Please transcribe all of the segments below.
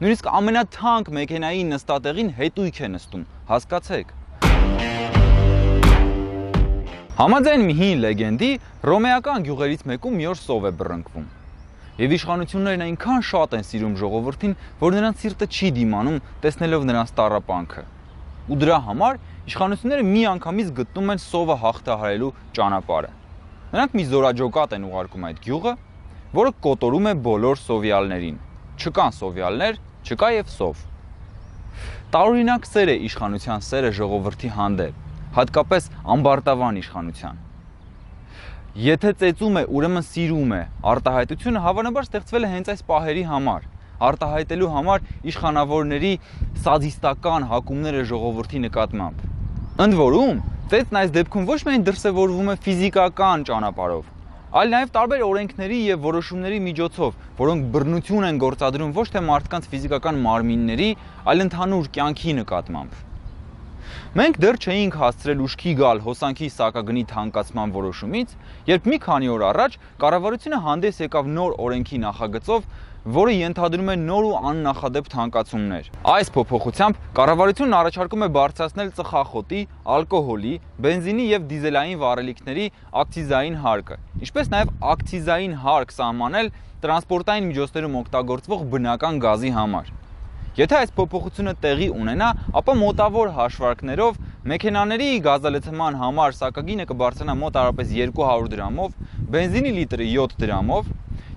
Նույնիսկ ամենաթանկ մեքենայի նստատեղին հետույք է նստում, հասկացեք։ Համաձայն մի հին լեգենդի, ռոմեական գյուղերից մեկում մի օր սով է բռնկվում։ Եվ իշխանություններն այնքան շատ են սիրում ժողովրդին, որ նրանց սիրտը չի դիմանում, տեսնելով նրանց տառապանքը։ Ու դրա համար իշխանությունները միանգամից գտնում են սովը հաղթահարելու ճանապարհը։ Նրանք մի զորաջոկատ են ուղարկում այդ գյուղը, որը կոտորում է բոլոր սովյալներին։ Չկան սովյալներ, չկա եւ սով։ Տարօրինակ սեր է իշխանության սերը ժողովրդի հանդեպ, հատկապես ամբարտավան իշխանության։ Եթե ծեծում է, ուրեմն սիրում է, արտահայտությունը հավանաբար ստեղծվել է հենց այս պահերի համար, արտահայտելու համար իշխանավորների սադիստական հակումները ժողովրդի նկատմամբ։ Ընդ որում, ծեծն այս դեպքում ոչ միայն դրսևորվում է ֆիզիկական ճանապարհով, այլ նաև տարբեր օրենքների եւ որոշումների միջոցով, որոնք բռնություն են գործադրում ոչ թե մարդկանց ֆիզիկական մարմինների, այլ ընդհանուր կյանքի նկատմամբ։ Մենք դեռ չէինք հասցրել ուշքի գալ հոսանքի սակագնի թանկացման որոշումից, երբ մի քանի օր առաջ կառավարությունը հանդես եկավ նոր օրենքի նախագծով, որը ենթադրում է նոր ու աննախադեպ թանկացումներ։ Այս փոփոխությամբ կառավարությունն առաջարկում է բարձրացնել ծխախոտի, ալկոհոլի, բենզինի եւ դիզելային վառելիքների ակցիզային հարկը, ինչպես նաեւ ակցիզային հարկ սահմանել տրանսպորտային միջոցներում օգտագործվող բնական գազի համար։ Եթե այս փոփոխությունը տեղի ունենա, ապա մոտավոր հաշվարկներով մեքենաների գազալցման համար սակագինը կբարձրանա մոտավորապես 200 դրամով, բենզինի լիտրը 7 դրամով,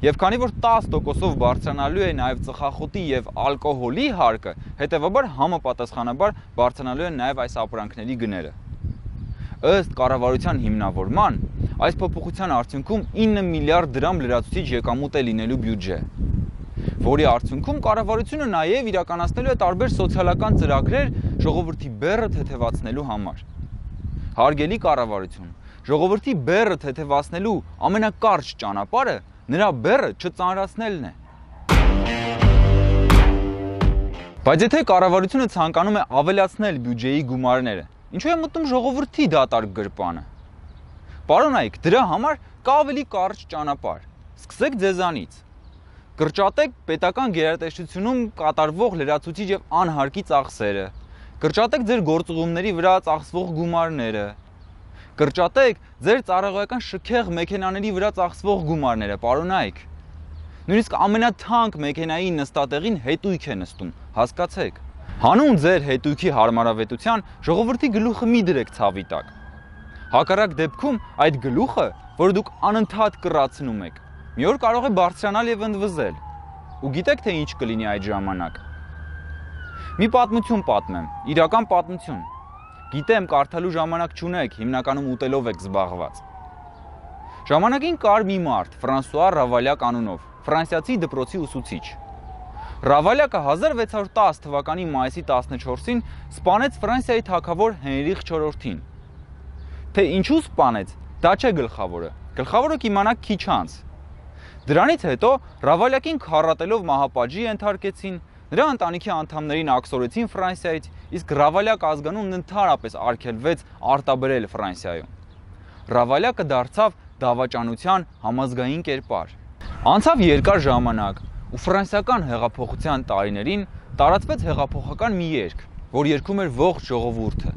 եւ քանի որ 10%-ով բարձրանալու է նաեւ ծխախոտի եւ ալկոհոլի հարկը, հետեւաբար համապատասխանաբար բարձրանալու են նաեւ այս ապրանքների գները։ Ըստ կառավարության հիմնավորման, այս փոփոխության արդյունքում 9 միլիարդ դրամ լրացուցիչ եկամուտ է լինելու բյուջե, որի արդյունքում կառավարությունը նաև իրականացնելու է տարբեր սոցիալական ծրագրեր ժողովրդի բեռը թեթևացնելու համար։ Հարգելի կառավարություն, ժողովրդի բեռը թեթևացնելու ամենակարճ ճանապարհը նրա բեռը չծանրացնելն է։ Բայց եթե կառավարությունը ցանկանում է ավելացնել բյուջեի գումարները, ինչու է մտնում ժողովրդի դատարկ գրպանը։ Պարոնայք, դրա համար կա ավելի կարճ ճանապարհ։ Սկսեք ձեզանից։ Կրճատեք պետական գերատեսչությունում կատարվող լրացուցիչ եւ անհարկի ծախսերը, կրճատեք ձեր գործուղումների վրա ծախսվող գումարները, կրճատեք ձեր ծառայողական շքեղ մեքենաների վրա ծախսվող գումարները, պարոնայք։ Նույնիսկ ամենաթանկ մեքենայի նստատեղին հետույք է նստում, հասկացեք։ Հանուն ձեր հետույքի հարմարավետության ժողովրդի գլուխը մի դրեք ցավի տակ։ Հակառակ դեպքում այդ գլուխը, որ դուք անընդհատ կռացնում եք, մի օր կարող է բարձրանալ եւ ընդվզել։ Ու գիտեք թե ինչ կլինի այդ ժամանակ։ Մի պատմություն պատմեմ, իրական պատմություն։ Գիտեմ, կարդալու ժամանակ չունեք, հիմնականում ուտելով եք զբաղված։ Ժամանակին կար մի մարդ, Ֆրանսուଆ Ռավալյակ անունով, ֆրանսիացի դպրոցի ուսուցիչ։ Ռավալյակը 1610 թվականի մայիսի 14-ին սպանեց Ֆրանսիայի թագավոր Հենրիխ IV-ին։ Թե ինչու սպանեց, դա չէ գլխավորը։ Գլխավորը կիմանաք քիչ անց։ Դրանից հետո Ռավալյակին քառատելով մահապատժի ենթարկեցին, նրա ընտանիքի անդամներին աքսորեցին Ֆրանսիայից, իսկ Ռավալյակ ազգանունն ընդհանրապես արգելվեց արտաբերել Ֆրանսիայում։ Ռավալյակը դարձավ դավաճանության համազգային կերպար։ Անցավ երկար ժամանակ, ու ֆրանսիական հեղափոխության տարիներին տարածվեց հեղափոխական մի երգ, որ երգում էր ողջ ժողովուրդը։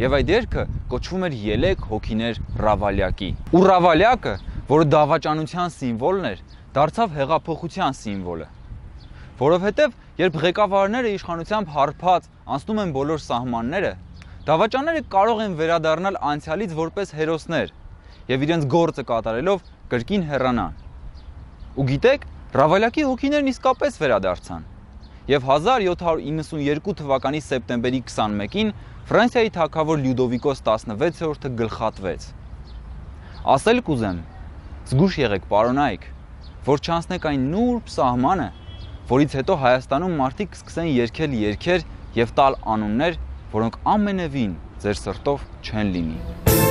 Եվ այդ երգը կոչվում էր Ելեք հոգիներ Ռավալյակի։ Ու Ռավալյակը, որը դավաճանության սիմվոլն էր, դարձավ հեղափոխության սիմվոլը։ Որովհետև երբ ղեկավարները իշխանությամբ հարբած անցնում են բոլոր սահմանները, դավաճանները կարող են վերադառնալ անցյալից որպես հերոսներ եւ իրենց գործը կատարելով կրկին հեռանան։ Ու գիտեք, Ռավալյակի հոգիներն իսկապես վերադարձան։ Եվ 1792 թվականի սեպտեմբերի 21-ին Ֆրանսիայի թագավոր Լյուդովիկոս 16-րդը գլխատվեց։ Ասել կուզեմ, զգուշ եղեք պարոնայք, որ չանցնեք այն նուրբ սահմանը, որից հետո Հայաստանում մարդիկ սկսեն երգել երգեր եւ տալ անուններ, որոնք ամենևին ձեր սրտով չեն լինի։